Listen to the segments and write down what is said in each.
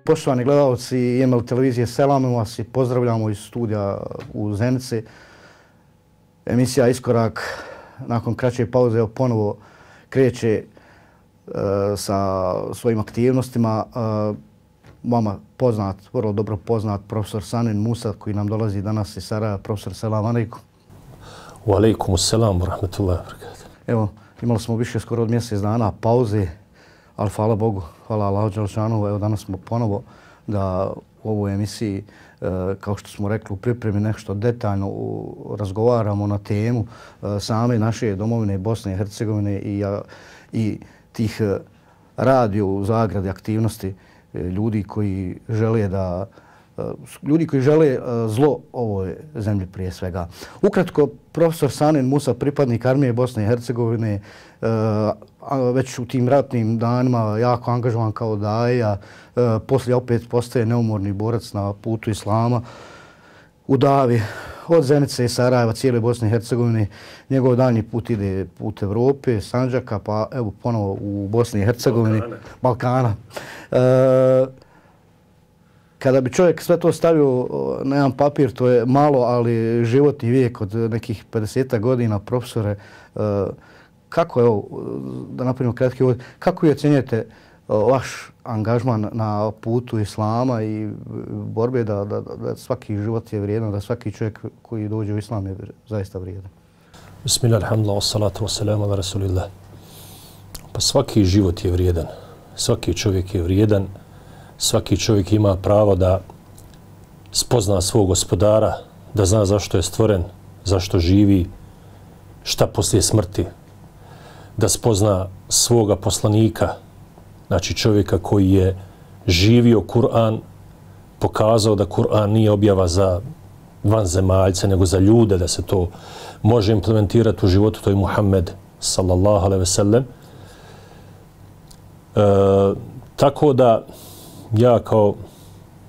Poštovani gledalci IML televizije, selamimo vas i pozdravljamo iz studija u Zenici. Emisija Iskorak nakon kraće pauze ponovo kreće sa svojim aktivnostima. Vama poznat, vrlo dobro poznat profesor Sanin Musa koji nam dolazi danas iz Sarajeva. Profesor, selam alejkum. Wa alejkum selam wa rahmetullahi wa barakatuh. Evo, imali smo više skoro od mjesec dana pauze, ali hvala Bogu, hvala Allahu dželešanu. Evo danas smo ponovo da u ovoj emisiji, kao što smo rekli, u pripremi nešto detaljno razgovaramo na temu same naše domovine Bosne i Hercegovine i tih radio u zagradi aktivnosti ljudi koji žele zlo ovoj zemlji prije svega. Ukratko, profesor Sanin Musa, pripadnik armije Bosne i Hercegovine, već u tim ratnim danima jako angažovan kao daja, poslije opet postaje neumorni borac na putu islama u davi od Zenice i Sarajeva, cijele Bosne i Hercegovine. Njegov daljnji put ide put Evrope, Sandžaka, pa evo ponovo u Bosni i Hercegovini, Balkana. Kada bi čovjek sve to stavio na jedan papir, to je malo, ali životni vijek od nekih 50 godina, profesore, kako, evo, da napravimo kratki uvod, kako ocjenjujete vaš angažman na putu islama i borbe da svaki život je vrijedan, da svaki čovjek koji dođe u islam je zaista vrijedan? Bismillah, alhamdulillah, wassalatu wassalamu ala rasulillah. Pa svaki život je vrijedan, svaki čovjek je vrijedan, svaki čovjek ima pravo da spozna svog gospodara, da zna zašto je stvoren, zašto živi, šta poslije smrti, da spozna svoga poslanika, znači čovjeka koji je živio Kur'an, pokazao da Kur'an nije objava za vanzemaljce, nego za ljude, da se to može implementirati u životu, to je Muhammed sallallahu alejhi ve sellem. Tako da ja kao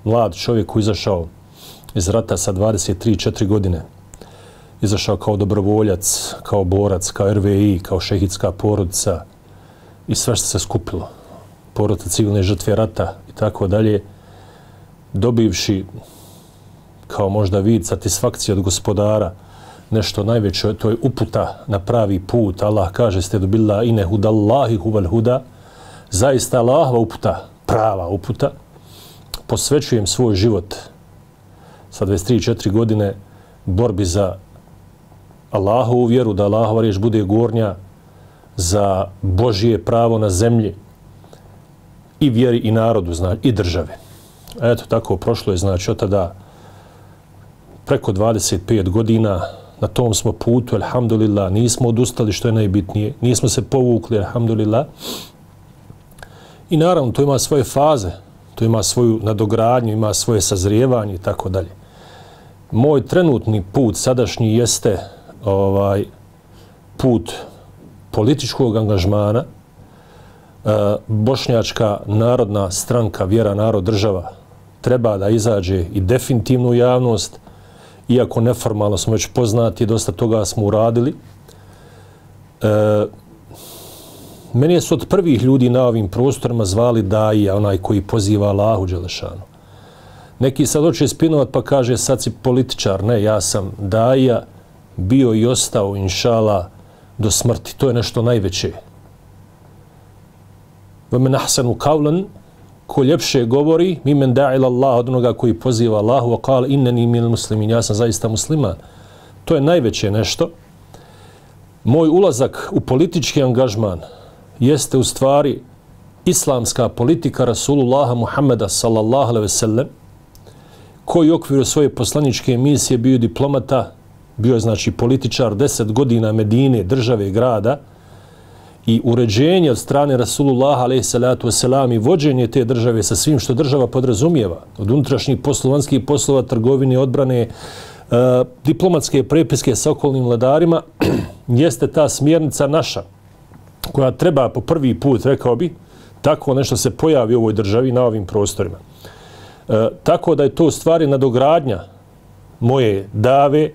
mlad čovjek koji izašao iz rata sa 23-4 godine, izašao kao dobrovoljac, kao borac, kao RVI, kao šehidska porodica i sve što se skupilo, porodica civilne žrtve rata i tako dalje, dobivši kao možda vid satisfakcije od gospodara, nešto najveće, to je uputa na pravi put. Allah kaže, ste dobila ine hudallahi huval huda, zaista Allahova uputa, prava uputa. Posvećujem svoj život sa 23-4 godine borbi za Allahovu vjeru, da Allahova riječ bude gornja, za Božije pravo na zemlji i vjeri i narodu, znači, i države. Eto, tako prošlo je, znači, od tada preko 25 godina na tom smo putu, alhamdulillah, nismo odustali, što je najbitnije, nismo se povukli, alhamdulillah. I naravno, to ima svoje faze, to ima svoju nadogradnju, ima svoje sazrijevanje i tako dalje. Moj trenutni put sadašnji jeste put političkog angažmana. Bošnjačka narodna stranka Vjera, narod, država treba da izađe i definitivnu javnost, iako neformalno smo već poznati, dosta toga smo uradili. Mene su od prvih ljudi na ovim prostorima zvali daija, onaj koji poziva Allahu dželešanu. Neki sad hoće spinovat pa kaže sad si političar. Ne, ja sam daija, bio i ostao, inšala, do smrti. To je nešto najveće. وَمَنْ أَحْسَنُ قَوْلًا, ko ljepše govori, مِمَنْ دَعِلَ اللَّهُ, od onoga koji poziva Allahu, وَقَالَ إِنَّنِي مِنَ الْمُسْلِمِينَ, ja sam zaista musliman. To je najveće nešto. Moj ulazak u politički angažman jeste u stvari islamska politika Rasulullaha Muhammeda sallallahu alejhi ve sellem, koji u okviru svoje poslaničke misije bio diplomata, bio je znači političar 10 godina Medine, države, grada, i uređenje od strane Rasulullaha alejhi salatu vesselam i vođenje te države sa svim što država podrazumijeva, od unutrašnjih poslova, vanjskih poslova, trgovine, odbrane, diplomatske prepiske sa okolnim vladarima, jeste ta smjernica naša, koja treba po prvi put, rekao bi, tako nešto se pojavi u ovoj državi na ovim prostorima. Tako da je to u stvari nadogradnja moje dave.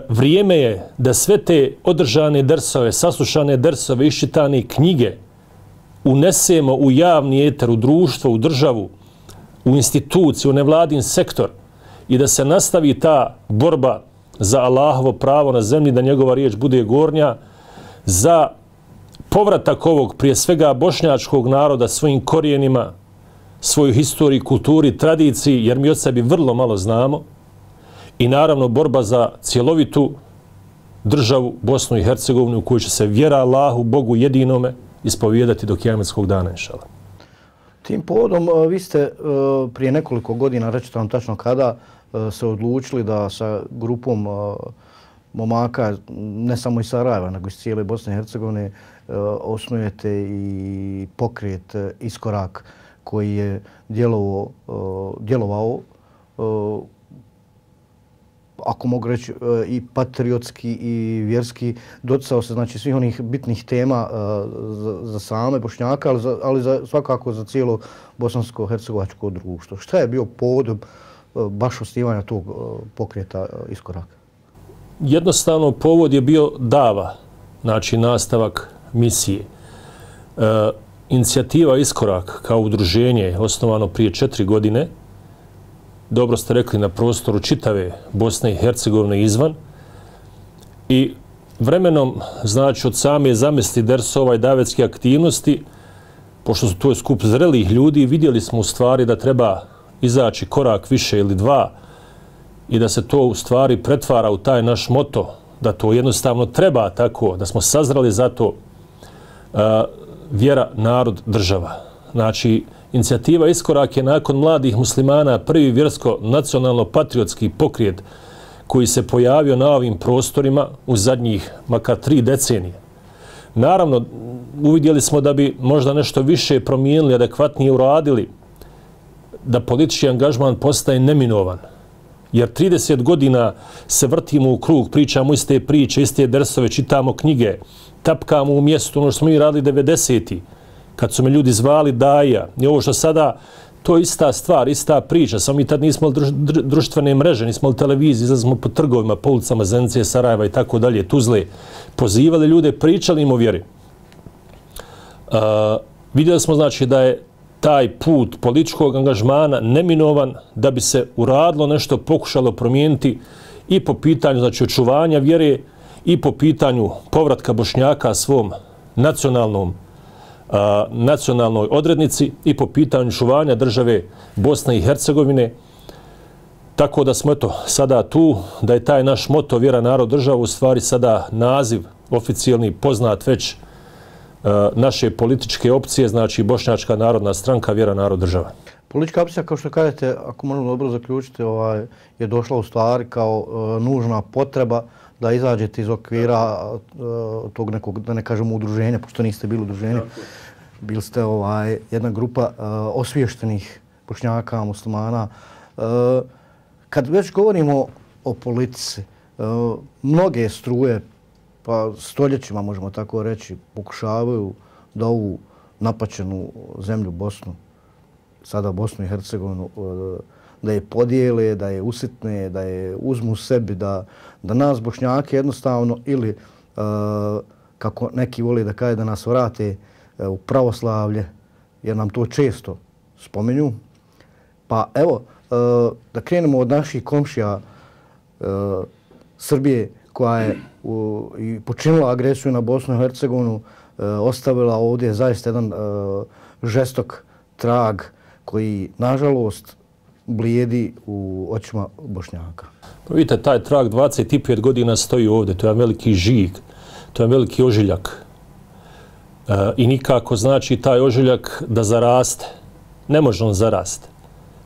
Vrijeme je da sve te održane dersove, saslušane dersove, iščitane knjige unesemo u javni eter, u društvo, u državu, u instituciju, u nevladin sektor i da se nastavi ta borba za Allahovo pravo na zemlji, da njegova riječ bude gornja, za povratak ovog, prije svega, bošnjačkog naroda svojim korijenima, svoju historiju, kulturi, tradiciji, jer mi od sebi vrlo malo znamo, i naravno borba za cjelovitu državu Bosnu i Hercegovinu u kojoj će se vjera Allahu, Bogu jedinome, ispovijedati do kijametskog dana, inšala. Tim povodom vi ste prije nekoliko godina, rećete nam tačno kada, se odlučili da sa grupom momaka, ne samo iz Sarajeva, nego iz cijele Bosne i Hercegovine, osnujete i pokret Iskorak koji je djelovao ako mogu reći, i patriotski i vjerski, doticao se znači svih onih bitnih tema za same Bošnjaka, ali svakako za cijelo bosansko-hercegovačko društvo. Šta je bio povodom baš osnivanja tog pokreta Iskoraka? Jednostavno, povod je bio dava, znači nastavak misije. Inicijativa Iskorak kao udruženje je osnovano prije 4 godine, dobro ste rekli, na prostoru čitave Bosne i Hercegovine izvan. I vremenom, znači od same zamisli dersova i davetske aktivnosti, pošto su to skup zrelih ljudi, vidjeli smo u stvari da treba izaći korak više ili dva i da se to u stvari pretvara u taj naš moto, da to jednostavno treba tako, da smo sazrali za to vjera, narod, država. Znači, inicijativa Iskorak je nakon mladih muslimana prvi vjersko-nacionalno-patriotski pokret koji se pojavio na ovim prostorima u zadnjih makar 3 decenije. Naravno, uvidjeli smo da bi možda nešto više promijenili, adekvatnije uradili, da politički angažman postaje neminovan. Jer 30 godina se vrtimo u krug, pričamo iste priče, iste dersove, čitamo knjige, tapkamo u mjestu, ono što smo mi radili 90-ih, kad su me ljudi zvali daja. I ovo što sada, to je ista stvar, ista priča. Samo mi tad nismo imali društvene mreže, nismo imali televiziju, izlazimo po trgovima, po ulicama Zenice, Sarajeva i tako dalje, Tuzle. Pozivali ljude, pričali im o vjeri. Vidjeli smo, znači, da je taj put političkog angažmana neminovan, da bi se uradilo nešto, pokušalo promijeniti i po pitanju, znači, očuvanja vjere i po pitanju povratka Bošnjaka svom nacionalnoj odrednici i po pitanju čuvanja države Bosne i Hercegovine. Tako da smo eto sada tu, da je taj naš moto vjera, narod, država u stvari sada naziv oficijalni poznat već naše političke opcije, znači Bošnjačka narodna stranka, vjera, narod, država. Politička opcija, kao što kažete, ako možemo dobro zaključiti, je došla u stvari kao nužna potreba da izađete iz okvira tog nekog, da ne kažemo udruženja, pošto niste bili udruženje. Bili ste jedna grupa osviještenih Bošnjaka, muslimana. Kad već govorimo o politici, mnoge struje, pa stoljećima možemo tako reći, pokušavaju da ovu napaćenu zemlju Bosnu, sada Bosnu i Hercegovinu, da je podijele, da je usitne, da je uzmu sebi, da nas Bošnjake jednostavno ili, kako neki voli da kaže, da nas vrate u pravoslavlje, jer nam to često spominju. Pa evo, da krenemo od naših komšija Srbije, koja je i počinila agresiju na Bosnu i Hercegovinu, ostavila ovdje zaista jedan žestok trag koji, nažalost, blijedi u očima Bošnjaka. Pa vidite, taj trag 25 godina stoji ovdje, to je veliki žig, to je veliki ožiljak. I nikako znači taj ožiljak da zaraste. Ne može on zarasti.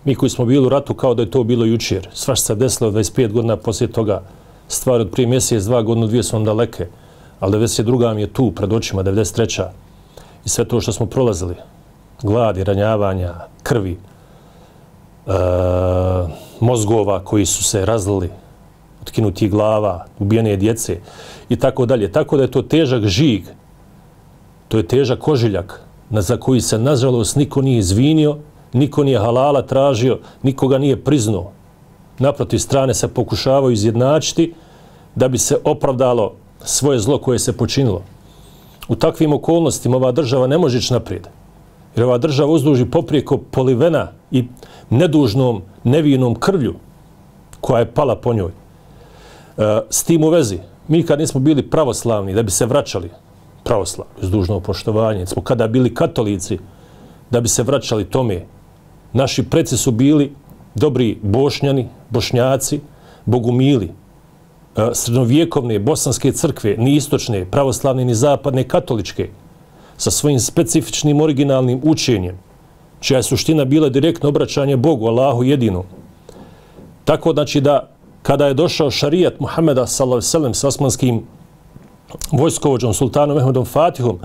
Mi koji smo bili u ratu kao da je to bilo jučer. Svašta se desilo 25 godina poslije toga. Stvari od prije mjesec, 2 godine, 2 su vam daleke. Ali 92. mi je tu, pred očima, 93. I sve to što smo prolazili. Gladi, ranjavanja, krvi, mozgova koji su se razlili, otkinutih glava, ubijene djece i tako dalje. Tako da je to težak žig, to je težak ožiljak za koji se, nažalost, niko nije izvinio, niko nije halala tražio, nikoga nije priznao. Naprotiv, strane se pokušavaju izjednačiti da bi se opravdalo svoje zlo koje se počinilo. U takvim okolnostima ova država ne može ići naprijed. Jer ova država uzduži poprijeko polivena i nedužnom, nevinom krvlju koja je pala po njoj. S tim u vezi, mi kad nismo bili pravoslavni, da bi se vraćali pravoslavni, uz dužno poštovanje, smo kada bili katolici, da bi se vraćali tome, naši preci su bili dobri Bošnjani, Bošnjaci, bogumili, srednjovjekovne bosanske crkve, ni istočne, pravoslavne, ni zapadne, katoličke, sa svojim specifičnim originalnim učenjem, čija je suština bila direktno obraćanje Bogu, Allahu jedinom. Tako znači da kada je došao šarijat Muhameda s.a.v. sa osmanskim vojskovođom sultanom Mehmedom Fatihom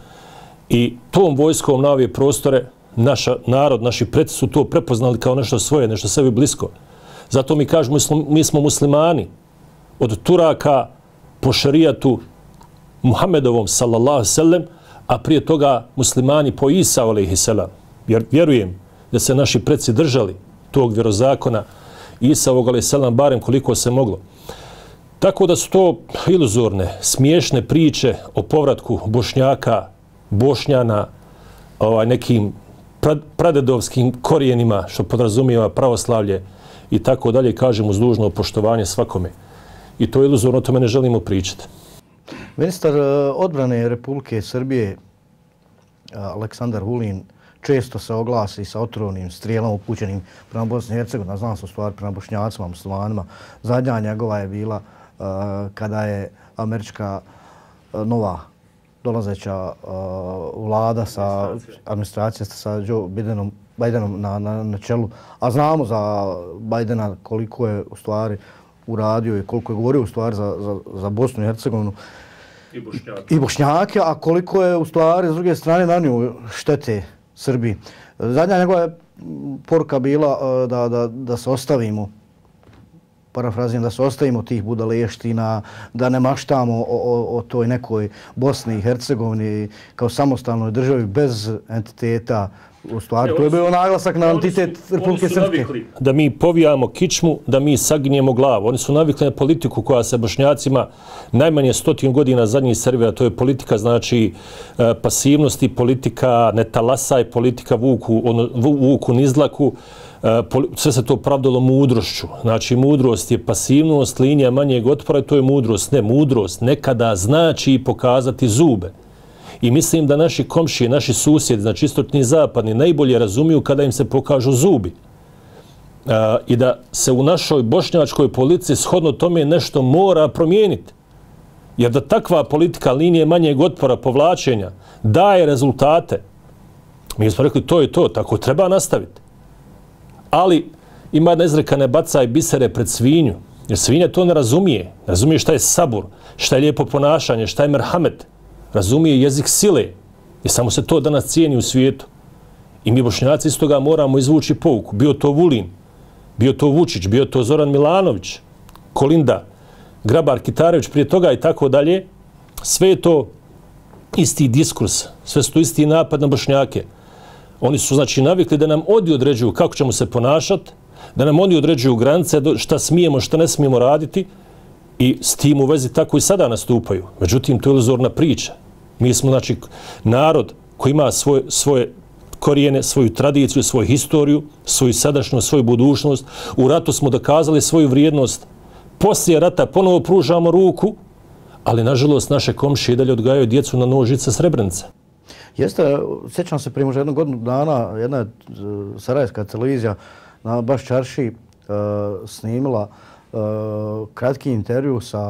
i tom vojskom na ove prostore, naš narod, naši preci su to prepoznali kao nešto svoje, nešto sebi blisko. Zato mi kažemo, mi smo muslimani od Turaka po šarijatu Muhammedovom s.a.v. a prije toga muslimani po Isa a.s. Jer vjerujem da se naši preci držali tog vjerozakona Isavog a.s. barem koliko se moglo. Tako da su to iluzorne, smiješne priče o povratku Bošnjaka, Bošnjana, nekim pradedovskim korijenima, što podrazumijeva pravoslavlje i tako dalje, kažem uz dužno poštovanje svakome. I to je iluzorno, o tome ne želimo pričati. Ministar odbrane Republike Srbije, Aleksandar Vulin, često se oglasi sa otrovnim strijelama upućenim prema Bosni i Hercegovini, znam se u stvari prema Bošnjacima, muslimanima. Zadnja njegova je bila kada je američka nova dolazeća vlada sa administracijom sa Joe Bidenom na čelu. A znamo za Bidena koliko je u stvari uradio i koliko je govorio u stvari za Bosnu i Hercegovinu i Bošnjake, a koliko je u stvari s druge strane nanio štete Srbiji. Zadnja njegova poruka bila da se ostavimo, parafraziram, da se ostavimo tih budaleština, da ne maštamo o toj nekoj Bosni i Hercegovini kao samostalnoj državi bez entiteta. U stvari, to je bio naglasak na entitet Republike Srpske. Da mi povijamo kičmu, da mi saginjemo glavu. Oni su navikli na politiku koja se Bošnjacima najmanje 100 godina zadnjih servira. To je politika, znači, pasivnosti, politika ne talasaj, politika vuku nizlaku. Sve se to pravdalo mudrošću. Znači, mudrost je pasivnost, linija manjeg otpora, to je mudrost. Ne, mudrost nekada znači pokazati zube. I mislim da naši komšije, naši susjedi, znači istočni i zapadni, najbolje razumiju kada im se pokažu zubi. I da se u našoj bošnjačkoj politici shodno tome nešto mora promijeniti. Jer da takva politika linije manjeg otpora, povlačenja, daje rezultate, mi smo rekli to je to, tako treba nastaviti. Ali ima jedna izreka, ne bacaj bisere pred svinju, jer svinja to ne razumije. Ne razumije šta je sabur, šta je lijepo ponašanje, šta je merhamet. Razumije jezik sile i samo se to danas cijeni u svijetu. I mi Bošnjaci iz toga moramo izvući pouku. Bio to Vulin, bio to Vučić, bio to Zoran Milanović, Kolinda, Grabar Kitarević prije toga i tako dalje. Sve je to isti diskurs, sve su to isti napad na Bošnjake. Oni su znači navikli da nam oni određuju kako ćemo se ponašati, da nam oni određuju granice, šta smijemo, šta ne smijemo raditi. I s tim u vezi tako i sada nastupaju. Međutim, to je iluzorna priča. Mi smo, znači, narod koji ima svoje korijene, svoju tradiciju, svoju historiju, svoju sadašnjost, svoju budućnost. U ratu smo dokazali svoju vrijednost. Poslije rata ponovo pružamo ruku, ali, nažalost, naše komšije dalje odgajaju djecu na nožice Srebrenice. Jeste, sjećam se prije možda jednu godinu dana, jedna sarajevska televizija na Baš Čarši snimila kratki intervju sa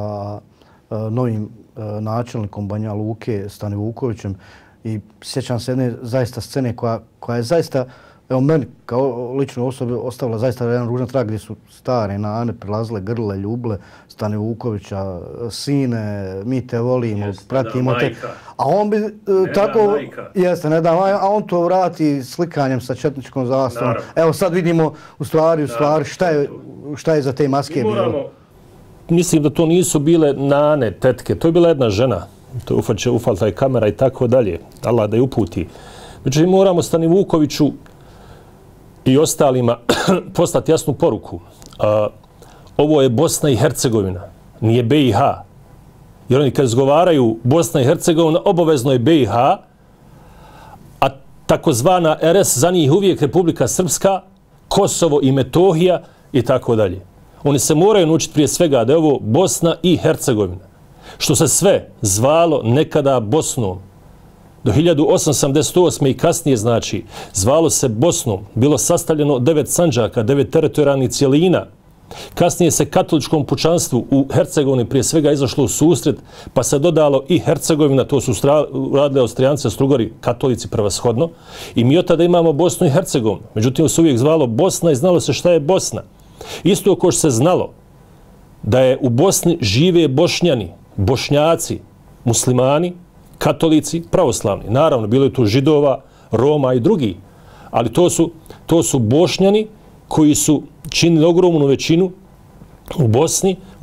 novim načelnikom Banja Luke, Stani Vukovićem, i sjećam se jedne zaista scene koja je zaista, evo meni kao ličnoj osobi ostavila zaista jedan ružan trag gdje su stare nane prilazile, grle, ljuble Stani Vukovića, sine, mi te volimo, pratimo te. A on bi tako, jeste, ne da majka, a on to vrati slikanjem sa četničkom zastavom. Evo sad vidimo u stvari šta je za te maske bilo. Mislim da to nisu bile nane, tetke, to je bila jedna žena. To je ufalta je kamera i tako dalje. Allah da je uputi. Međutim, moramo Stani Vukoviću i ostalima poslati jasnu poruku. Ovo je Bosna i Hercegovina, nije BiH. Jer oni kad izgovaraju Bosna i Hercegovina, obavezno je BiH, a takozvana RS za njih uvijek Republika Srpska, Kosovo i Metohija i tako dalje. Oni se moraju naučiti prije svega da je ovo Bosna i Hercegovina. Što se sve zvalo nekada Bosnom. Do 1888. i kasnije, znači, zvalo se Bosnom. Bilo sastavljeno 9 sandžaka, 9 teritorijalnih cijelina. Kasnije se katoličkom pučanstvu u Hercegovini prije svega izašlo u susret, pa se dodalo i Hercegovina, to su radili Austrijanci, Astrugari, katolici prevashodno. I mi od tada imamo Bosnu i Hercegovinu. Međutim, se uvijek zvalo Bosna i znalo se šta je Bosna. Isto kao što se znalo da je u Bosni žive Bošnjani, Bošnjaci, muslimani, katolici, pravoslavni. Naravno, bilo je tu Židova, Roma i drugi, ali to su Bošnjani koji su činili ogromnu većinu u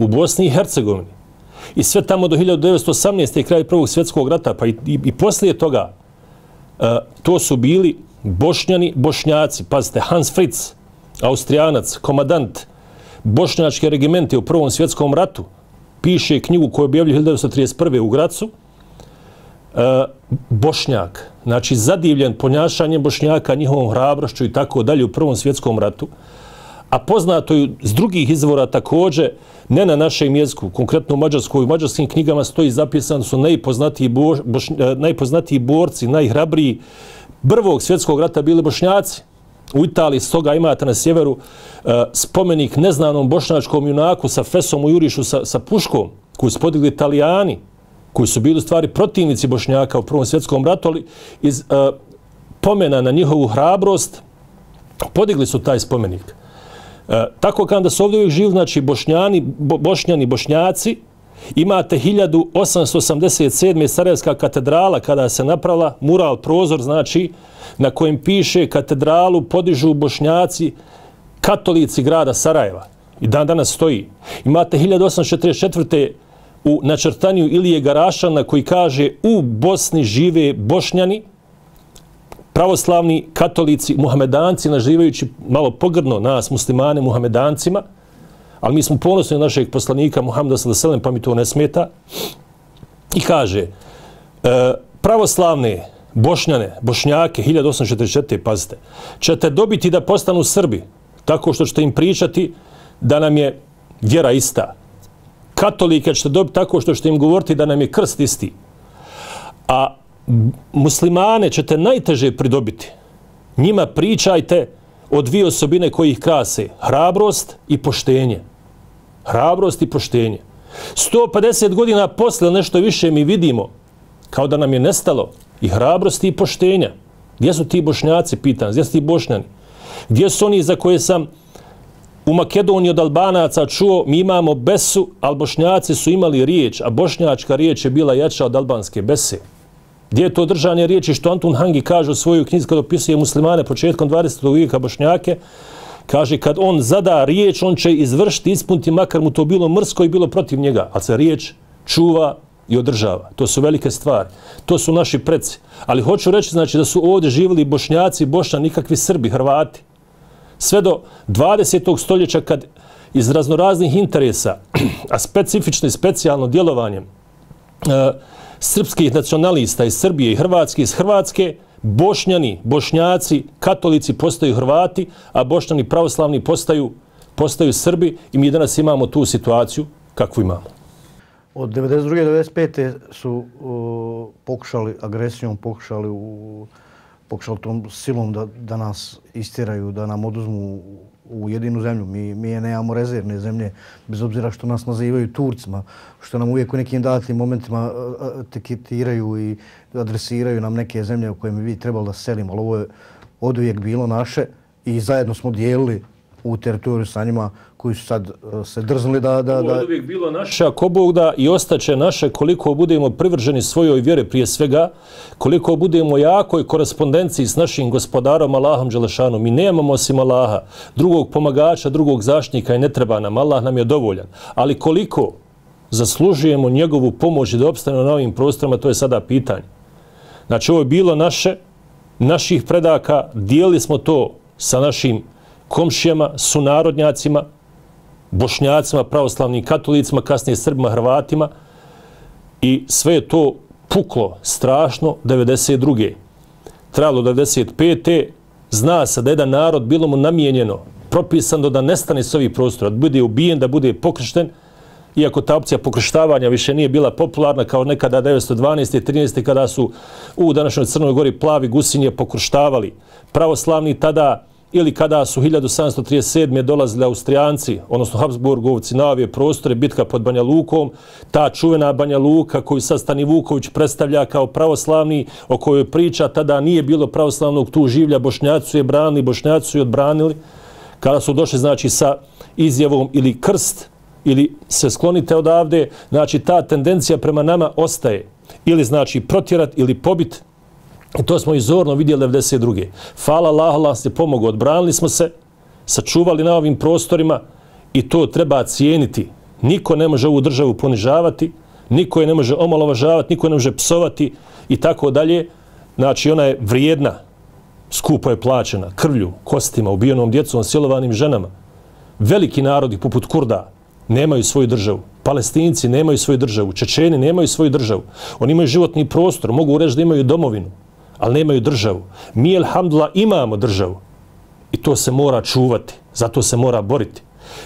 Bosni i Hercegovini. I sve tamo do 1918. i kraj Prvog svjetskog rata, pa i poslije toga, to su bili Bošnjani, Bošnjaci. Pazite, Hans Fritz, Austrijanac, komadant bošnjačke regimente u Prvom svjetskom ratu, piše knjigu koju objavljuje 1931. u Gracu, Bošnjak, znači zadivljen ponašanjem Bošnjaka, njihovom hrabrošću i tako dalje u Prvom svjetskom ratu, a poznato je iz drugih izvora također, ne na našem jeziku, konkretno u Mađarskoj, u mađarskim knjigama stoji zapisano su najpoznatiji borci, najhrabriji Prvog svjetskog rata bili Bošnjaci. U Italiji stoga imate na sjeveru spomenik neznanom bošnjačkom junaku sa fesom u jurišu sa puškom, koji su podigli Italijani, koji su bili u stvari protivnici Bošnjaka u Prvom svjetskom ratu, ali iz pomena na njihovu hrabrost podigli su taj spomenik. Tako kada su ovdje uvijek živi, znači Bošnjani, Bošnjaci, imate 1887. Sarajevska katedrala kada se napravila mural, prozor, znači na kojem piše katedralu podižu Bošnjaci, katolici grada Sarajeva. I dan danas stoji. Imate 1844. u načrtanju Ilije Garašana koji kaže u Bosni žive Bošnjani, pravoslavni, katolici, muhamedanci, nazivajući malo pogrdno nas, muslimane, muhamedancima, ali mi smo ponosni našeg poslanika Muhameda sallallahu alejhi ve sellem, pa mi to ne smeta. I kaže, pravoslavne Bošnjane, Bošnjake, 1844. pazite, ćete dobiti da postanu Srbi, tako što ćete im pričati da nam je vjera ista. Katolike ćete dobiti tako što ćete im govoriti da nam je krst isti. A muslimane ćete najteže pridobiti. Njima pričajte o dvije osobine koji ih krase. Hrabrost i poštenje. Hrabrost i poštenje. 150 godina posle nešto više mi vidimo kao da nam je nestalo i hrabrosti i poštenja. Gdje su ti Bošnjaci, pitan, gdje su ti Bošnjani? Gdje su oni za koje sam u Makedoniji od Albanaca čuo, mi imamo besu, ali Bošnjaci su imali riječ, a bošnjačka riječ je bila jača od albanske bese. Gdje je to držanje riječi što Antun Hangi kaže u svojoj knjizi kad opisuje muslimane početkom 20. vijeka Bošnjake, kaže kad on zada riječ, on će izvršiti, ispuniti, makar mu to bilo mrsko i bilo protiv njega, ali se riječ čuva i održava. To su velike stvari. To su naši preci. Ali hoću reći, znači, da su ovdje živjeli Bošnjaci, Bošnjani, nikakvi Srbi, Hrvati. Sve do 20. stoljeća kad iz raznoraznih interesa, a specifično i specijalno djelovanjem srpskih nacionalista iz Srbije i Hrvatske iz Hrvatske, Bošnjani, Bošnjaci, katolici postaju Hrvati, a Bošnjani pravoslavni postaju Srbi i mi danas imamo tu situaciju kakvu imamo. Od 1992. do 1995. su pokušali agresijom, pokušali tom silom da nas istiraju, da nam oduzmu u jedinu zemlju. Mi je nemamo rezervne zemlje, bez obzira što nas nazivaju Turcima, što nam uvijek u nekim datim momentima etiketiraju i adresiraju nam neke zemlje u koje mi trebali da selimo. Ali ovo je oduvijek bilo naše i zajedno smo dijelili u teritoriju sa njima koji su sad se drznuli da... Ovo je uvijek bilo naše, ako Bog da, i ostaće naše koliko budemo privrženi svojoj vjere prije svega, koliko budemo jakoj korespondenciji s našim gospodarom Allahom Đelešanom. Mi nemamo osim Allaha, drugog pomagača, drugog zaštitnika i ne treba nam. Allah nam je dovoljan. Ali koliko zaslužujemo njegovu pomoć da opstanemo na ovim prostorima, to je sada pitanje. Znači, ovo je bilo naših predaka, dijelili smo to sa našim komšijama, sunarodnjacima, Bošnjacima, pravoslavnim katolicima, kasnije Srbima, Hrvatima i sve je to puklo strašno 92. Trajalo 95. zna se da jedan narod bilo mu namijenjeno, propisano da nestane s ovih prostora, da bude ubijen, da bude pokršten, iako ta opcija pokrštavanja više nije bila popularna kao nekada 1912. i 13. kada su u današnjoj Crnoj Gori plavi gusinje pokrštavali pravoslavni tada, ili kada su 1737. dolazili Austrijanci, odnosno Habsburgovci na ove prostore, bitka pod Banja Lukom, ta čuvena Banja Luka koju sad Stani Vuković predstavlja kao pravoslavni, o kojoj priča, tada nije bilo pravoslavnog tu življa, Bošnjaci su je branili, Bošnjaci su je odbranili, kada su došli znači sa izjavom ili krst, ili se sklonite odavde, znači ta tendencija prema nama ostaje, ili znači protjerat ili pobit. I to smo i zorno vidjeli 1992. Hvala Allahu, Allah se pomogao, odbranili smo se, sačuvali na ovim prostorima i to treba cijeniti. Niko ne može ovu državu ponižavati, niko je ne može omalovažavati, niko je ne može psovati i tako dalje. Znači ona je vrijedna, skupo je plaćena, krvlju, kostima, ubijenom djecom, silovanim ženama. Veliki narodi poput Kurda nemaju svoju državu. Palestinci nemaju svoju državu. Čečeni nemaju svoju državu. Oni imaju životni prostor, mogu reći da imaju domovinu, ali nemaju državu. Mi, alhamdulillah, imamo državu. I to se mora čuvati. Zato se mora boriti.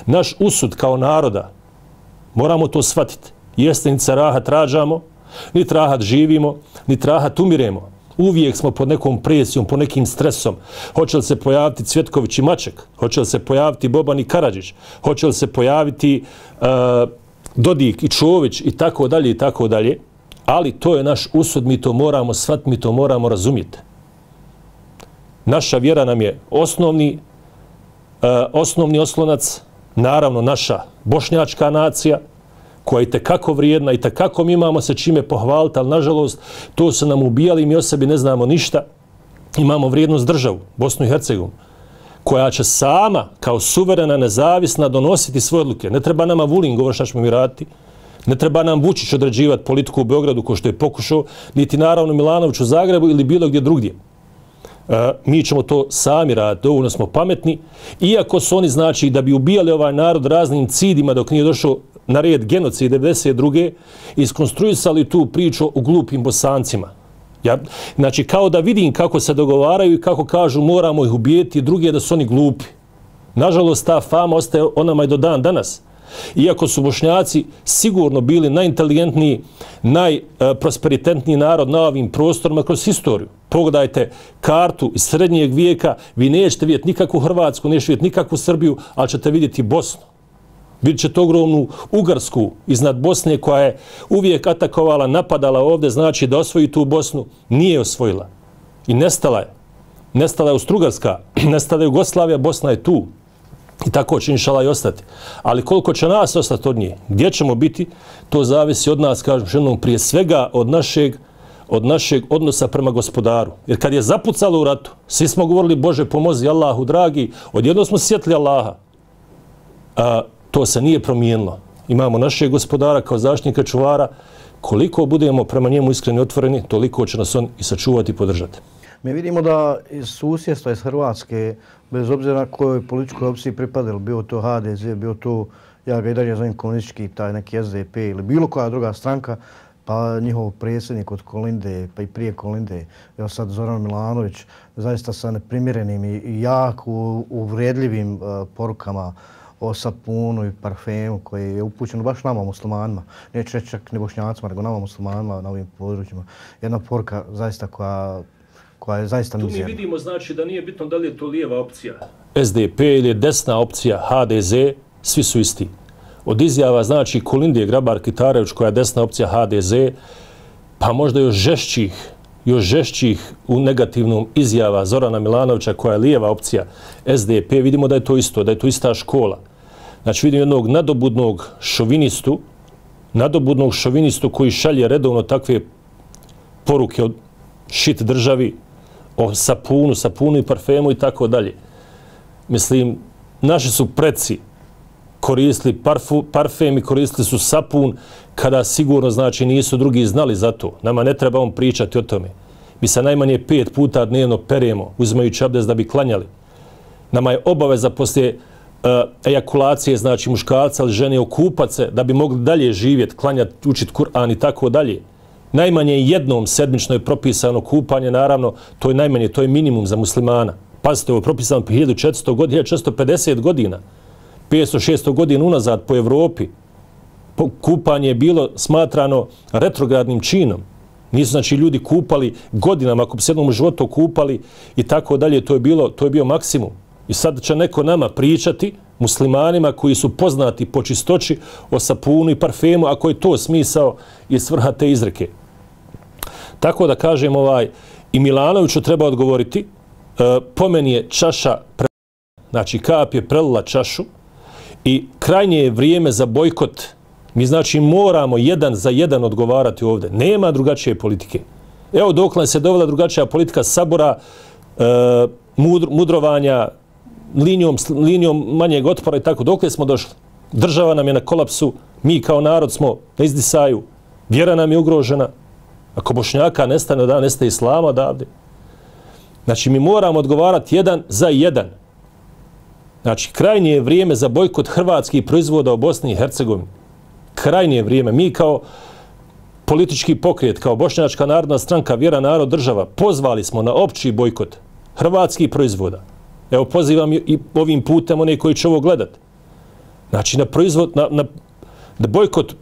Naš usud kao naroda, moramo to shvatiti. Jeste niti se rahat rađamo, niti rahat živimo, niti rahat umiremo. Uvijek smo pod nekom presijom, pod nekim stresom. Hoće li se pojaviti Cvjetković i Maček? Hoće li se pojaviti Boban i Karadžić? Hoće li se pojaviti Dodik i Čović i tako dalje i tako dalje? Ali to je naš usud, mi to moramo shvatiti, mi to moramo razumjeti. Naša vjera nam je osnovni oslonac, naravno naša bošnjačka nacija, koja je tekako vrijedna i tekako mi imamo se čime pohvaliti, ali nažalost to su nam ubijali i mi o sebi ne znamo ništa. Imamo vrijednost državu, Bosnu i Hercegovinu, koja će sama kao suverena, nezavisna donositi svoje odluke. Ne treba nama Vulin govori šta ćemo mi raditi, ne treba nam Vučić određivati politiku u Beogradu ko što je pokušao, niti naravno Milanović u Zagrebu ili bilo gdje drugdje. Mi ćemo to sami raditi, dovoljno smo pametni, iako su oni znači da bi ubijali ovaj narod raznim cidima dok nije došao na red genocid 1992. iskonstruisali tu priču o glupim Bosancima. Znači, kao da vidim kako se dogovaraju i kako kažu moramo ih ubijeti, drugi da su oni glupi. Nažalost, ta fama ostaje onama i do dan danas. Iako su Bošnjaci sigurno bili najinteligentniji, najprosperitetniji narod na ovim prostorima kroz historiju. Pogledajte kartu iz srednjeg vijeka, vi nećete vidjeti nikakvu Hrvatsku, nećete vidjeti nikakvu Srbiju, ali ćete vidjeti Bosnu. Vidjet ćete ogromnu Ugarsku iznad Bosne koja je uvijek atakovala, napadala ovdje, znači da osvoji tu Bosnu, nije osvojila. I nestala je. Nestala je Austro-Ugarska, nestala je Jugoslavija, Bosna je tu. I tako će inšala i ostati. Ali koliko će nas ostati od nje, gdje ćemo biti, to zavisi od nas, kažem ženom, prije svega od našeg odnosa prema gospodaru. Jer kad je zapucalo u ratu, svi smo govorili Bože pomozi Allahu dragi, odjedno smo sjetili Allaha. To se nije promijenilo. Imamo našeg gospodara kao zaštitnika čuvara. Koliko budemo prema njemu iskreni i otvoreni, toliko će nas on i sačuvati i podržati. Mi vidimo da iz susjedstva, iz Hrvatske, bez obzira kojoj političkoj opciji pripadali, bio to HDZ, bio to, ja ga i dalje zovem komunistički, taj neki SDP ili bilo koja druga stranka, pa njihov predsjednik od Kolinde, pa i prije Kolinde, evo sad Zoran Milanović, zaista sa neprimjerenim i jako uvredljivim porukama o sapunu i parfemu koji je upućen baš nama muslimanima. Neću reći čak ne Bošnjacima, nego nama muslimanima na ovim područjima. Jedna poruka zaista koja je zaista mizerna. Tu mi vidimo znači da nije bitno da li je to lijeva opcija SDP ili je desna opcija HDZ, svi su isti. Od izjava znači Kolinde Grabar-Kitarević koja je desna opcija HDZ, pa možda još žešćih u negativnom izjava Zorana Milanovića koja je lijeva opcija SDP, vidimo da je to isto, da je to ista škola. Znači vidimo jednog nadobudnog šovinistu koji šalje redovno takve poruke o shit državi, o sapunu i parfemu i tako dalje. Mislim, naši su preci koristili parfem i koristili su sapun kada sigurno znači nisu drugi znali za to. Nama ne treba on pričati o tome. Mi se najmanje 5 puta dnevno peremo uzimajući abdest da bi klanjali. Nama je obaveza poslije ejakulacije, znači muškarca ili žene okupat se da bi mogli dalje živjeti, klanjati, učiti Kur'an i tako dalje. Najmanje jednom sedmično je propisano kupanje, naravno, to je najmanje, to je minimum za muslimana. Pazite, ovo je propisano 1400 godina, 1450 godina, 500-600 godina unazad po Evropi. Kupanje je bilo smatrano retrogradnim činom. Nisu znači ljudi kupali godinama, ako bi se jednom u životu kupali i tako dalje, to je bio maksimum. I sad će neko nama pričati, muslimanima koji su poznati po čistoći, o sapunu i parfemu, ako je to smisao i svrha te izreke. Tako da kažem, i Milanoviću treba odgovoriti, po meni je čaša prelila, znači kap je prelila čašu i krajnje je vrijeme za bojkot. Mi znači moramo jedan za jedan odgovarati ovdje. Nema drugačije politike. Evo dokle se dovela drugačija politika sabora, mudrovanja, linijom manjeg otpora i tako. Dokle smo došli? Država nam je na kolapsu, mi kao narod smo na izdisaju, vjera nam je ugrožena. Ako Bošnjaka nestane da nestaje islama odavde. Znači mi moramo odgovarati jedan za jedan. Znači krajnje je vrijeme za bojkot hrvatskih proizvoda u Bosni i Hercegovini. Krajnje je vrijeme. Mi kao politički pokret, kao Bošnjačka narodna stranka, vjera, narod, država, pozvali smo na opći bojkot hrvatskih proizvoda. Evo pozivam i ovim putem one koji će ovo gledati. Znači na bojkot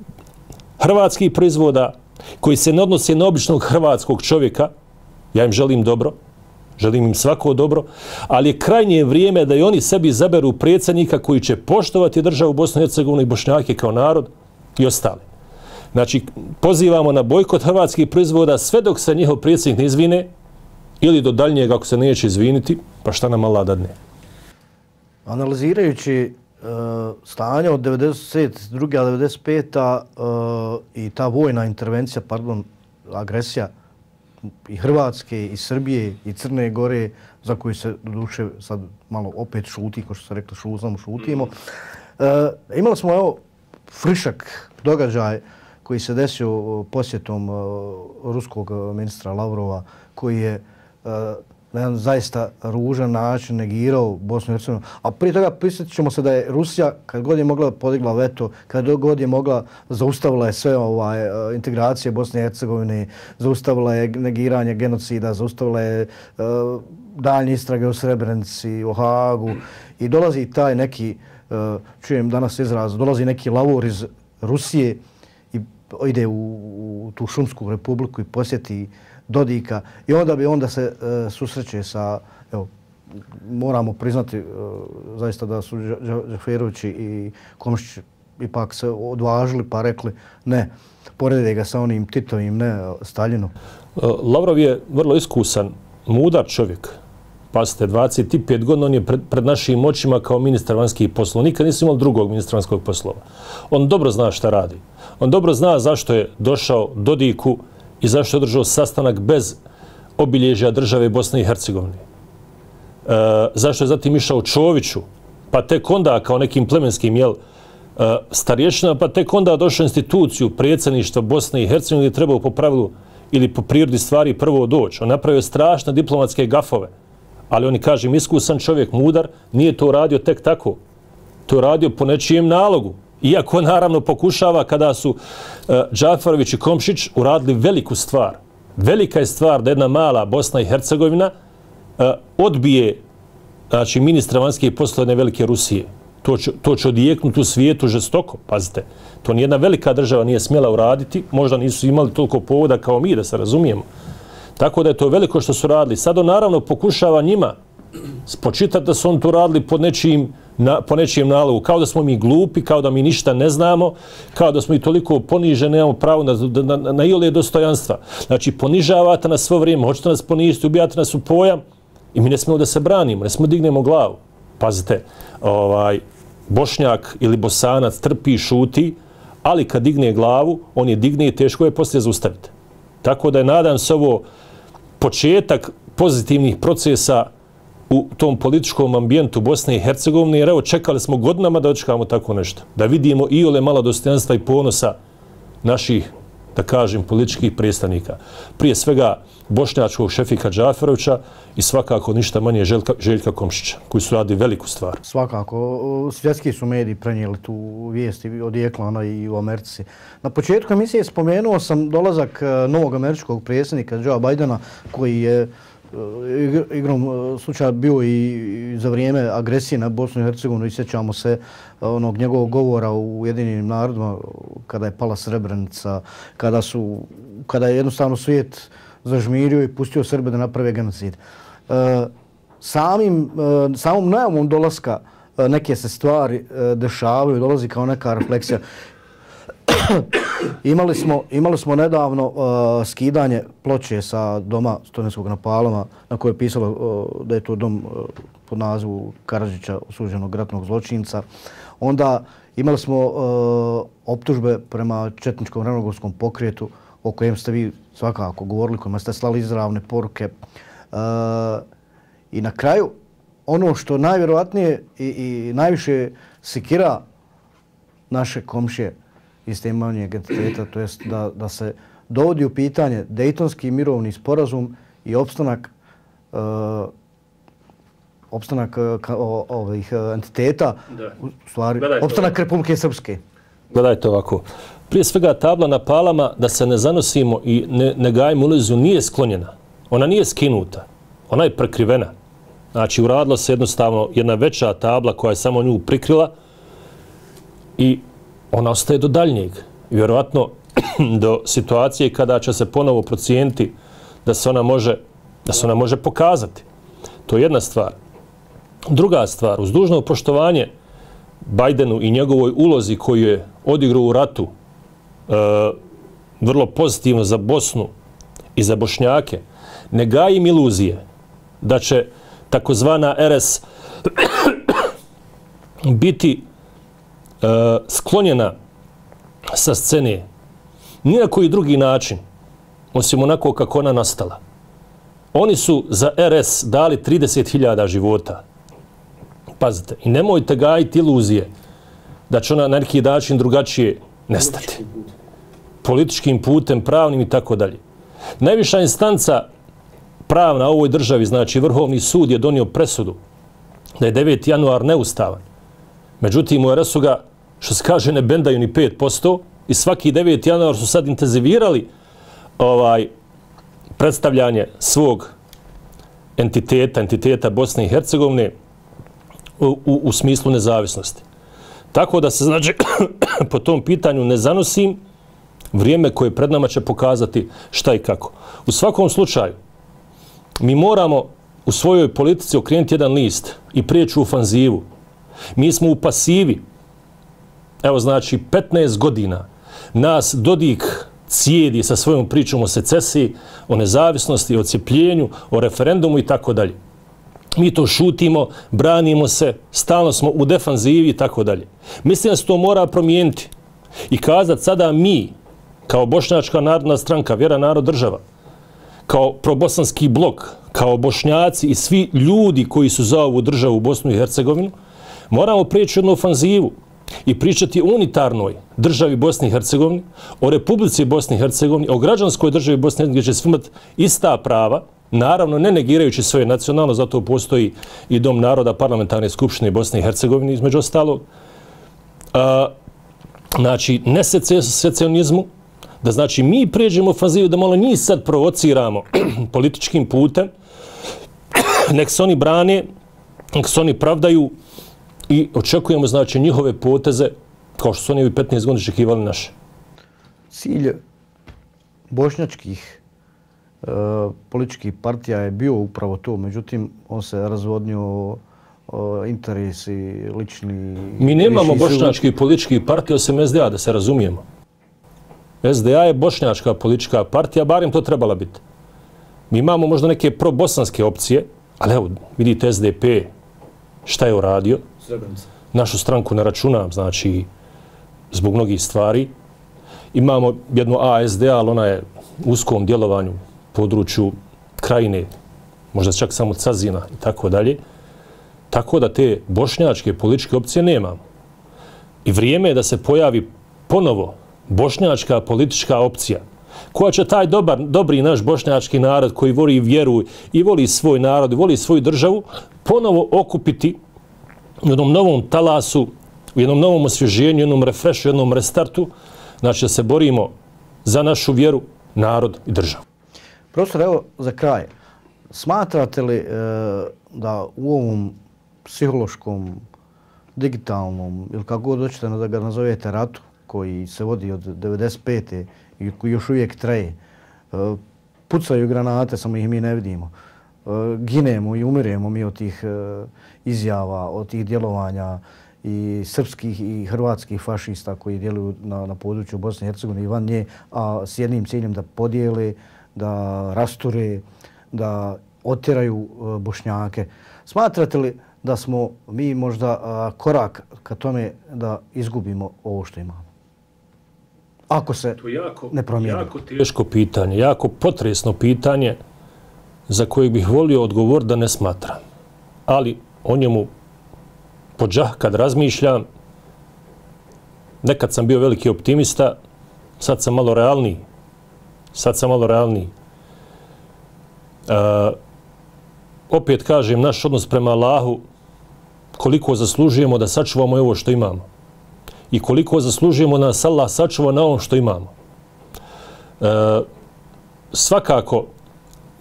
hrvatskih proizvoda koji se ne odnose na običnog hrvatskog čovjeka. Ja im želim dobro, želim im svako dobro, ali je krajnje vrijeme da i oni sebi izaberu predsjednika koji će poštovati državu Bosnu i Hercegovinu i Bošnjake kao narod i ostali. Znači, pozivamo na bojkot hrvatskih proizvoda sve dok se njihov predsjednik ne izvine ili do daljnjeg ako se neće izviniti, pa šta nam Allah dadne. Analizirajući stanje od 92. a 95. I ta vojna intervencija, agresija i Hrvatske, i Srbije, i Crne Gore, za koju se doduše sad malo opet šuti, kao što se rekli, šutimo. Imali smo evo frišak događaj koji se desio posjetom ruskog ministra Lavrova, koji je na jedan zaista ružan način negirao Bosnu i Hercegovinu. A prije toga prisjetit ćemo se da je Rusija, kad god je mogla, podigla veto, kad god je mogla, zaustavila je sve integracije Bosne i Hercegovine, zaustavila je negiranje genocida, zaustavila je daljnje istrage o Srebrenici, o Hagu i dolazi taj neki, čujem danas izraz, dolazi neki lavor iz Rusije i ide u tu Šumsku republiku i posjeti Dodika i onda se susreće sa, evo, moramo priznati zaista da su Džaferović i Komšić ipak se odvažili pa rekli ne, porede ga sa onim Titovim, ne Staljinom. Lavrov je vrlo iskusan, mudar čovjek. Pazite, 25 godina on je pred našim očima kao ministar vanjskih poslova. Nikad nisu imali drugog ministra vanjskih poslova. On dobro zna šta radi. On dobro zna zašto je došao Dodiku i zašto je održao sastanak bez obilježja države Bosne i Hercegovine. Zašto je zatim išao Čoviću, pa tek onda kao nekim plemenskim starješinama, pa tek onda došao instituciju predsjedništva Bosne i Hercegovine gdje trebao po pravilu ili po prirodi stvari prvo doći. On napravio strašne diplomatske gafove, ali on je, kažem, iskusan čovjek, mudar, nije to radio tek tako. To je radio po nečijem nalogu. Iako naravno pokušava kada su Džaferović i Komšić uradili veliku stvar. Velika je stvar da jedna mala Bosna i Hercegovina odbije znači, ministra vanjskih poslova jedne velike Rusije. To će odjeknuti u svijetu žestoko, pazite. To nijedna velika država nije smjela uraditi, možda nisu imali toliko povoda kao mi, da se razumijemo. Tako da je to veliko što su radili. Sad on naravno pokušava njima spočitati da su on to radili po nečijem nalogu, kao da smo mi glupi, kao da mi ništa ne znamo, kao da smo i toliko poniženi, nemamo pravo na iole dostojanstva. Znači, ponižavate nas svo vrijeme, hoćete nas poniziti, ubijate nas u pojam i mi ne smijemo da se branimo, ne smijemo da dignemo glavu. Pazite, Bošnjak ili Bosanac trpi i šuti, ali kad digne glavu, on je digne i teško je poslije zaustaviti. Tako da je, nadam se, ovo početak pozitivnih procesa u tom političkom ambijentu Bosne i Hercegovine, jer evo čekali smo godinama da očekamo tako nešto. Da vidimo iole malo dostojanstva i ponosa naših, da kažem, političkih predstavnika. Prije svega bošnjačkog šefika Džaferovića i svakako ništa manje Željka Komšića, koji su radili veliku stvar. Svakako. Svjetski su mediji prenijeli tu vijest i odjekla ona i u Americi. Na početku emisije spomenuo sam dolazak novog američkog predsjednika Joea Bidena, koji je igrom slučaja bio i za vrijeme agresije na Bosnu i Hercegovinu i sjećamo se onog njegovog govora u Ujedinjenim narodima kada je pala Srebrenica, kada je jednostavno svijet zažmirio i pustio Srbe da naprave genocid. Samom najavom dolaska neke se stvari dešavaju, dolazi kao neka refleksija. Imali smo nedavno skidanje ploče sa doma studentskog na Palama na kojoj je pisalo da je to dom pod nazivu Karadžića, osuđenog ratnog zločinca. Onda imali smo optužbe prema četničkom ravnogorskom pokretu o kojem ste vi svakako govorili, kojima ste slali izravne poruke. I na kraju, ono što najvjerovatnije i najviše sekira naše komšije iz te manjeg entiteta, to jest da se dovodi u pitanje Dejtonski mirovni sporazum i opstanak ovih entiteta, u stvari, opstanak Republike Srpske. Gledajte ovako. Prije svega tabla na Palama, da se ne zanosimo i ne gajimo iluziju, nije sklonjena. Ona nije skinuta. Ona je prekrivena. Znači, uradila se jednostavno jedna veća tabla koja je samo nju prikrila i ona ostaje do daljnjeg. Vjerovatno do situacije kada će se ponovo procijeniti da se ona može pokazati. To je jedna stvar. Druga stvar, uz dužno poštovanje Bajdenu i njegovoj ulozi koju je odigrao u ratu vrlo pozitivno za Bosnu i za Bošnjake, ne gajim iluzije da će takozvana RS biti sklonjena sa scene ni na koji drugi način, osim onako kako ona nastala. Oni su za RS dali 30.000 života. Pazite, i nemojte gajiti iluzije da će ona na neki način drugačije nestati. Političkim putem, pravnim i tako dalje. Najviša instanca pravna u ovoj državi, znači Vrhovni sud, je donio presudu da je 9. januar neustavan. Međutim, u RS-u ga, što se kaže, ne bendaju ni 5% i svaki 9. januar su sad intenzivirali predstavljanje svog entiteta Bosne i Hercegovine u smislu nezavisnosti. Tako da se, znači, po tom pitanju ne zanosim, vrijeme koje pred nama će pokazati šta i kako. U svakom slučaju, mi moramo u svojoj politici okrenuti jedan list i prijeći u ofanzivu. Mi smo u pasivi. Evo, znači, 15 godina nas Dodik cijedi sa svojom pričom o secesiji, o nezavisnosti, o cijepljenju, o referendumu i tako dalje. Mi to šutimo, branimo se, stalno smo u defanzivi i tako dalje. Mislim da se to mora promijeniti i kazati sada mi, kao Bošnjačka narodna stranka, Vjera, narod, država, kao probosanski blok, kao Bošnjaci i svi ljudi koji su za ovu državu Bosnu i Hercegovinu, moramo prijeći jednu ofanzivu i pričati o unitarnoj državi Bosne i Hercegovine, o Republici Bosne i Hercegovine, o građanskoj državi Bosne i Hercegovine, gdje će svi imati ista prava, naravno ne negirajući svoje nacionalno, zato postoji i Dom naroda Parlamentarne skupštine Bosne i Hercegovine, između ostalog. Znači, ne secesionizmu, da znači mi prijeđemo ofanzivu, da malo njih sad provociramo političkim putem, nek se oni brane, nek se oni pravdaju i očekujemo, znači, njihove poteze kao što su oni 15 godina očekivali naše. Cilj bošnjačkih političkih partija je bio upravo to, međutim, on se razvodnio interesi lični. Mi nemamo bošnjačkih političkih partija osim SDA, da se razumijemo. SDA je bošnjačka politička partija, barem to trebala biti. Mi imamo možda neke probosanske opcije, ali evo, vidite SDP, šta je uradio. Našu stranku ne računam, znači, zbog mnogih stvari. Imamo jednu ASDA, ali ona je u uskom djelovanju području Krajine, možda čak samo Cazina i tako dalje. Tako da te bošnjačke političke opcije nemamo. I vrijeme je da se pojavi ponovo bošnjačka politička opcija koja će taj dobri naš bošnjački narod koji voli vjeru i voli svoj narod i voli svoju državu ponovo okupiti u jednom novom talasu, u jednom novom osvježenju, jednom refreshu, jednom restartu, znači da se borimo za našu vjeru, narod i državu. Profesor, evo za kraj, Smatrate li da u ovom psihološkom, digitalnom ili kako god hoćete da ga nazovete ratu koji se vodi od 95. i koji još uvijek traje, pucaju granate, samo ih mi ne vidimo, ginemo i umiremo mi od tih izjava, od tih djelovanja i srpskih i hrvatskih fašista koji djeluju na području Bosne i Hercegovine i van nje, a s jednim ciljem da podijele, da rasture, da otjeraju Bošnjake. Smatrate li da smo mi možda korak ka tome da izgubimo ovo što imamo? Ako se ne promijeni. Jako teško pitanje, jako potresno pitanje za koje bih volio odgovor da ne smatram. Ali o njemu pođah kad razmišljam, nekad sam bio veliki optimista, sad sam malo realniji. Opet kažem, naš odnos prema Allahu, koliko zaslužujemo da sačuvamo ovo što imamo i koliko zaslužujemo da nas Allah sačuva na ovom što imamo. Svakako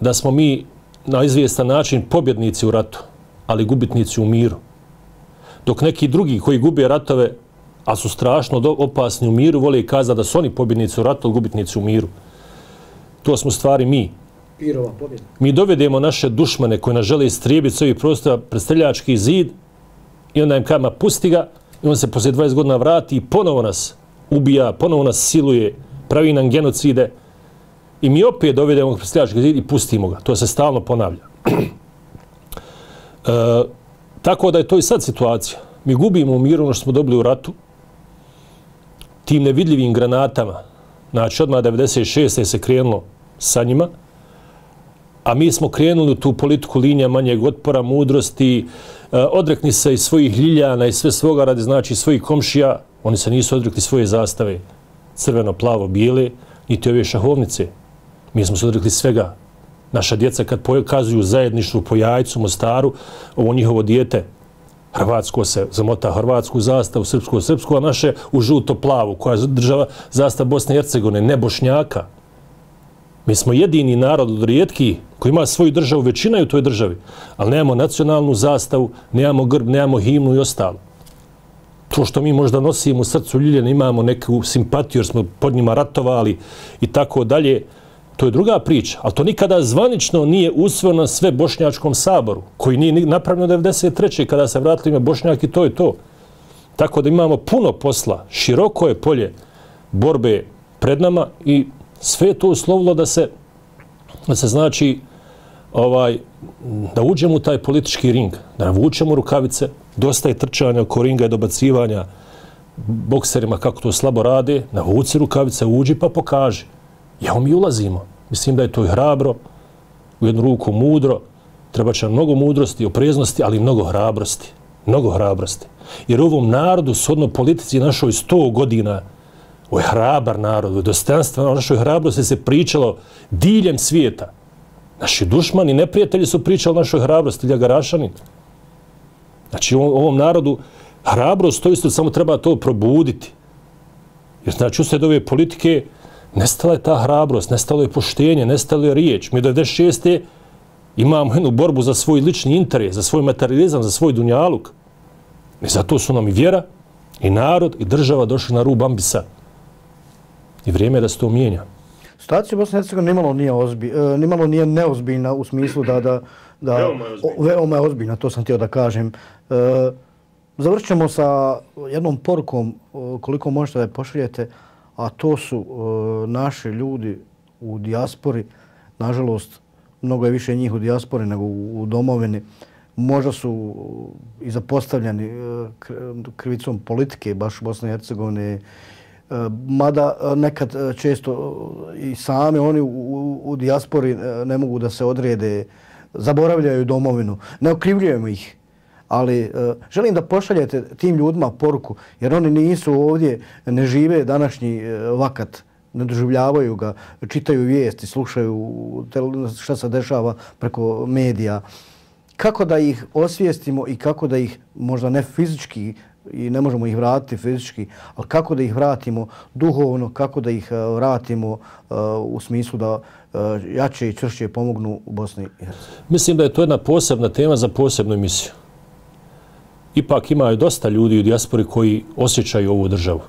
da smo mi na izvjestan način pobjednici u ratu, ali gubitnici u miru. Dok neki drugi koji gube ratove, a su strašno opasni u miru, vole kazati da su oni pobjednici u ratu, ali gubitnici u miru. To smo stvari mi. Pirova pobjeda. Mi dovedemo naše dušmane koji nas žele istrijebiti s ovih prostora pred streljački zid i onda im kama pusti ga i on se poslije 20 godina vrati i ponovo nas ubija, ponovo nas siluje, pravi nam genocide i mi opet dovedemo pred streljački zid i pustimo ga. To se stalno ponavlja. Tako da je to i sad situacija. Mi gubimo u miru ono što smo dobili u ratu tim nevidljivim granatama. Znači, odmah 96. se krenulo sa njima, a mi smo krenuli u tu politiku linija manjeg otpora, mudrosti, odrekni se i svojih ljiljana i sve svoga radi, znači svojih komšija. Oni se nisu odrekli svoje zastave, crveno, plavo, bijele, niti ove šahovnice. Mi smo se odrekli svega. Naša djeca kad pokazuju zajedništvo po Jajcu, Mostaru, ovo njihovo dijete, hrvatsko se zamota hrvatsku zastavu, srpsku, a naše u žuto-plavu, koja država zastav Bosne i Hercegovine, ne Bošnjaka. Mi smo jedini narod od rijetkih koji ima svoju državu, većina je u toj državi, ali nemamo nacionalnu zastavu, nemamo grb, nemamo himnu i ostalo. To što mi možda nosimo u srcu ljiljene, imamo neku simpatiju jer smo pod njima ratovali i tako dalje, to je druga priča, ali to nikada zvanično nije usvojeno na sve Bošnjačkom saboru, koji nije napravljeno 1993. kada se vratili ime Bošnjak i to je to. Tako da imamo puno posla, široko je polje borbe pred nama i sve je to uslovilo da se znači da uđemo u taj politički ring, da navučemo rukavice, dosta je trčanja oko ringa i dobacivanja bokserima kako to slabo rade, navuci rukavice, uđi pa pokaži. Evo mi ulazimo. Mislim da je to i hrabro, u jednu ruku mudro, treba će nam mnogo mudrosti, opreznosti, ali i mnogo hrabrosti. Mnogo hrabrosti. Jer u ovom narodu, shodno politici našoj 100 godina, ovo je hrabar narod, ovo je dostojanstvo, o našoj hrabrosti se pričalo diljem svijeta. Naši dušmani, neprijatelji su pričali o našoj hrabrosti, Ljagarašanin. Znači u ovom narodu hrabrost, to isto samo treba to probuditi. Jer znači uslijed ove politike nestala je ta hrabrost, nestalo je poštenje, nestalo je riječ. Mi do 96. imamo jednu borbu za svoj lični interes, za svoj materializam, za svoj dunjaluk. I zato su nam i vjera, i narod, i država došli na rub ambisa. I vrijeme je da se to mijenja. Situacija u Bosni i Hercegovini nimalo nije neozbiljna u smislu da veoma je ozbiljna, to sam htio da kažem. Završit ćemo sa jednom porukom koliko možete da je pošaljete, a to su naši ljudi u dijaspori. Nažalost, mnogo je više njih u dijaspori nego u domovini. Možda su i zapostavljeni krivicom politike baš u Bosni i Hercegovini, mada nekad često i sami oni u dijaspori ne mogu da se odrede, zaboravljaju domovinu, ne okrivljujemo ih. Ali želim da pošaljete tim ljudima poruku, jer oni nisu ovdje, ne žive današnji vakat, ne doživljavaju ga, čitaju vijesti, slušaju šta se dešava preko medija. Kako da ih osvijestimo i kako da ih možda ne fizički i ne možemo ih vratiti fizički, ali kako da ih vratimo duhovno, kako da ih vratimo u smislu da jače i čvršće pomognu u Bosni i Hercegovini? Mislim da je to jedna posebna tema za posebnu emisiju. Ipak imaju dosta ljudi u dijaspori koji osjećaju ovu državu.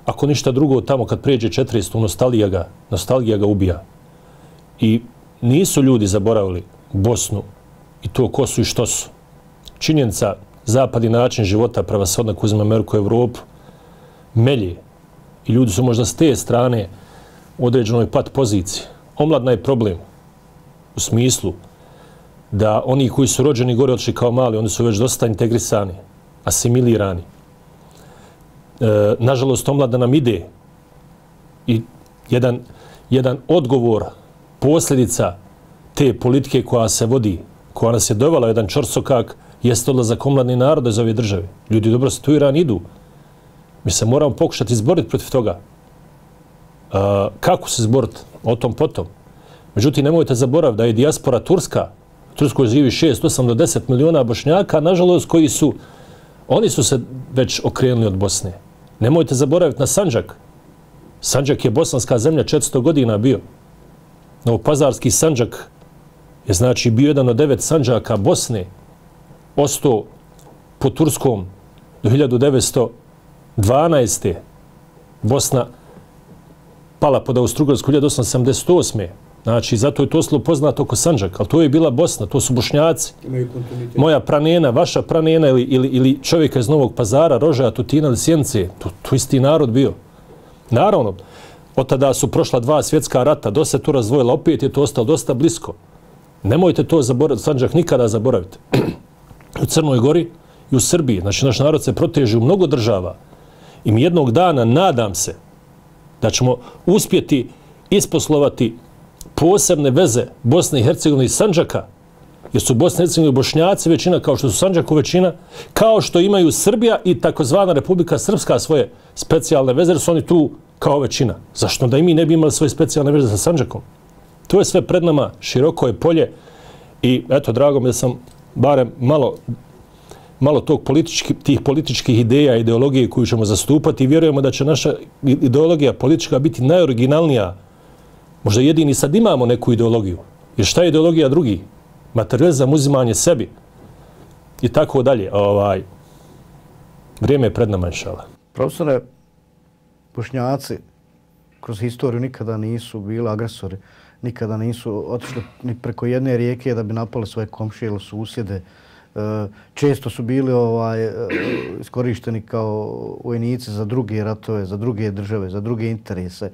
Ako ništa drugo, tamo kad pređe 400, nostalgija ga ubija. I nisu ljudi zaboravili Bosnu i to ko su i što su. Činjenica, zapad i način života prevashodno ako uzme Ameriku i Evropu melje. I ljudi su možda s te strane u određenoj pat poziciji. Omladna je problem u smislu da oni koji su rođeni gore otišli kao mali, oni su već dosta integrisani, asimilirani. Nažalost, omlada nam ide i jedan odgovor, posljedica te politike koja se vodi, koja nas je dovela jedan čorsokak, jeste odlazak omladnih naroda iz ove države. Ljudi dobro situirani idu. Mi se moramo pokušati izboriti protiv toga. Kako se izboriti? O tom potom. Međutim, nemojte zaboraviti da je dijaspora turska, u Turskoj živi 6, 8 do 10 miliona Bošnjaka, nažalost, oni su se već okrenuli od Bosne. Nemojte zaboraviti na Sandžak. Sandžak je bosanska zemlja 400 godina bio. Novopazarski Sandžak je znači bio jedan od 9 Sandžaka Bosne, ostao po Turskom do 1912. Bosna pala pod Austro-Ugarsku 1878. Znači, zato je to slovo poznato oko Sandžak, ali to je bila Bosna, to su Bošnjaci. Moja pranena, vaša pranena ili čovjeka iz Novog Pazara, Rožaja, Tutina ili Sjenice, to isti narod bio. Naravno, od tada su prošla 2 svjetska rata, dosta se to razdvojila, opet je to ostalo dosta blisko. Nemojte to zaboraviti, Sandžak nikada zaboraviti. U Crnoj Gori i u Srbiji, znači naš narod se proteže u mnogo država i mi jednog dana, nadam se, da ćemo uspjeti isposlovati posebne veze Bosne i Hercegovine i Sandžaka, jer su Bosna i Hercegovina Bošnjaci većina, kao što su Sandžaku većina, kao što imaju Srbija i takozvana Republika Srpska svoje specijalne veze, jer su oni tu kao većina. Zašto da i mi ne bi imali svoje specijalne veze sa Sandžakom? To je sve pred nama, široko je polje i eto, drago mi da sam barem malo tih političkih ideja, ideologije koju ćemo zastupati i vjerujemo da će naša ideologija politička biti najoriginalnija. Možda jedini sad imamo neku ideologiju. Jer šta je ideologija drugi? Materializam, uzimanje sebi. I tako dalje. Vrijeme je pred nama, inšala. Profesore, Bošnjaci kroz historiju nikada nisu bili agresori. Nikada nisu otišli ni preko jedne rijeke da bi napali svoje komšije ili susjede. Često su bili iskorišteni kao vojnici za druge ratove, za druge države, za druge interese.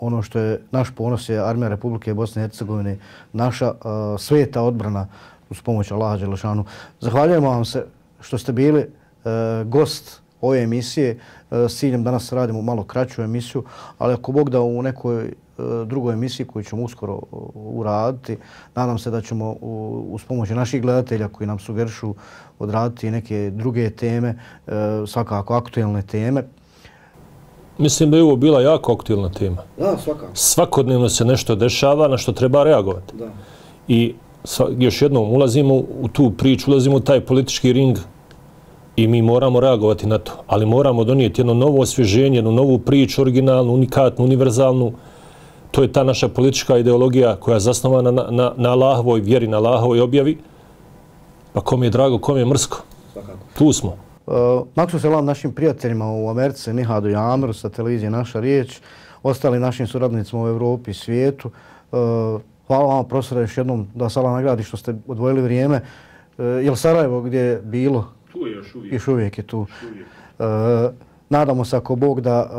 Ono što je naš ponos je Armija Republike Bosne i Hercegovine, naša sveta odbrana uz pomoć Allaha Đelešanu. Zahvaljujemo vam se što ste bili gost ove emisije. S ciljem danas radimo malo kraću emisiju, ali ako Bog da u nekoj drugoj emisiji koju ćemo uskoro uraditi, nadam se da ćemo uz pomoć naših gledatelja koji nam sugerišu odraditi neke druge teme, svakako aktuelne teme. Mislim da je ovo bila jako aktuelna tema. Da, svakako. Svakodnevno se nešto dešava na što treba reagovati. Da. I još jednom ulazimo u tu priču, ulazimo u taj politički ring i mi moramo reagovati na to. Ali moramo donijeti jedno novo osvježenje, jednu novu priču, originalnu, unikatnu, univerzalnu. To je ta naša politička ideologija koja je zasnovana na Allahovoj vjeri, na Allahovoj objavi. Pa kom je drago, kom je mrsko. Svakako. Tu smo. Maksu selam našim prijateljima u Americi, Nihadu i Ameru sa televizije Naša riječ, ostali našim suradnicima u Evropi i svijetu. Hvala vam, profesore, još jednom da vas Allah nagradi što ste odvojili vrijeme. Je li Sarajevo gdje je bilo? Tu je još uvijek. Još uvijek je tu. Nadamo se ako Bog da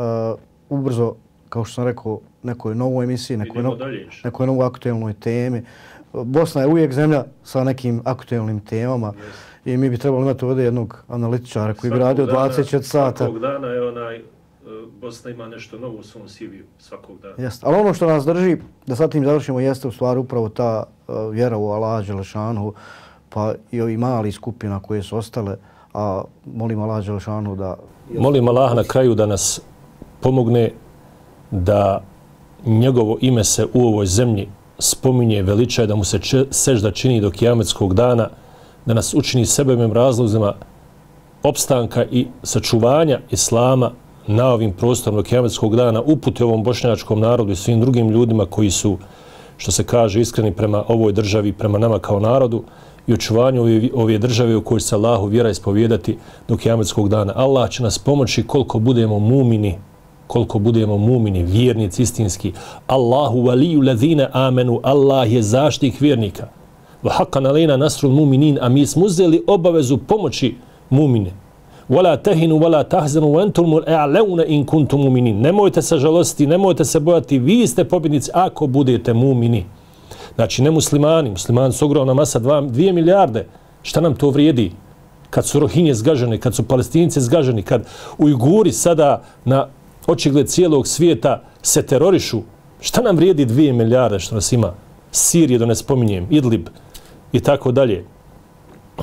ubrzo, kao što sam rekao, nekoj novoj emisiji, nekoj novoj aktuelnoj temi. Bosna je uvijek zemlja sa nekim aktuelnim temama. I mi bi trebali imati ovdje jednog analitičara koji bi radio 24 sata. Svakog dana je Bosna ima nešto novo u svom CV-u, svakog dana. Jeste. Ali ono što nas drži, da sad tim završimo, jeste u stvari upravo ta vjera u Allaha Đelešanu, pa i ovi mali skupina koje su ostale, a molim Allaha Đelešanu da... Molim Allaha na kraju da nas pomogne da njegovo ime se u ovoj zemlji spominje, veličaje, da mu se sežda čini do kijametskog dana, da nas učini sebevim razlozima opstanka i sačuvanja islama na ovim prostorima kijametskog dana, uputi ovom bošnjačkom narodu i svim drugim ljudima koji su, što se kaže, iskreni prema ovoj državi, prema nama kao narodu i očuvanju ove države u kojoj se Allahu vjera ispovijedati do kijametskog dana. Allah će nas pomoći koliko budemo mumini, vjernici istinski. Allahu waliju ladhina amenu, Allah je zaštitnik vjernika. Wa haqqan alejna nasrul muminin, a mi smo uzeli obavezu pomoći mumine. Wala tahinu wala tahzanu wa antumul a'launa in kuntum mu'minin. Nemojte se žalostiti, nemojte se bojati, vi ste pobjednici ako budete mumini. Znači ne muslimani su ogromna masa, 2 milijarde. Šta nam to vrijedi? Kad su Rohinje zgaženi, kad su Palestinci zgaženi, kad Ujguri sada na očigled cijelog svijeta se terorišu, šta nam vrijedi 2 milijarde što nas ima? Sirije, da ne spominjem, Idlib i tako dalje.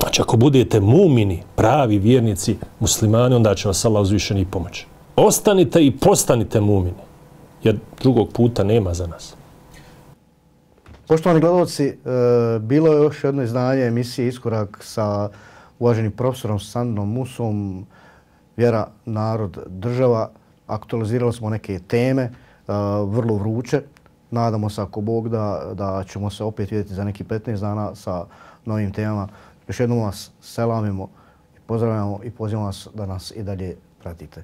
Znači, ako budete mumini, pravi vjernici, muslimani, onda će vas Allah uzvišeni pomoći. Ostanite i postanite mumini, jer drugog puta nema za nas. Poštovani gledalci, bilo je još jedno izdanje emisije Iskorak sa uvaženim profesorom Saninom Musom, Vjera, narod, država. Aktualizirali smo neke teme, vrlo vruće. Nadamo se, ako Bog da ćemo se opet vidjeti za neki 15 dana sa novim temama. Još jednom vas selamimo i pozdravljamo i pozivamo vas da nas i dalje pratite.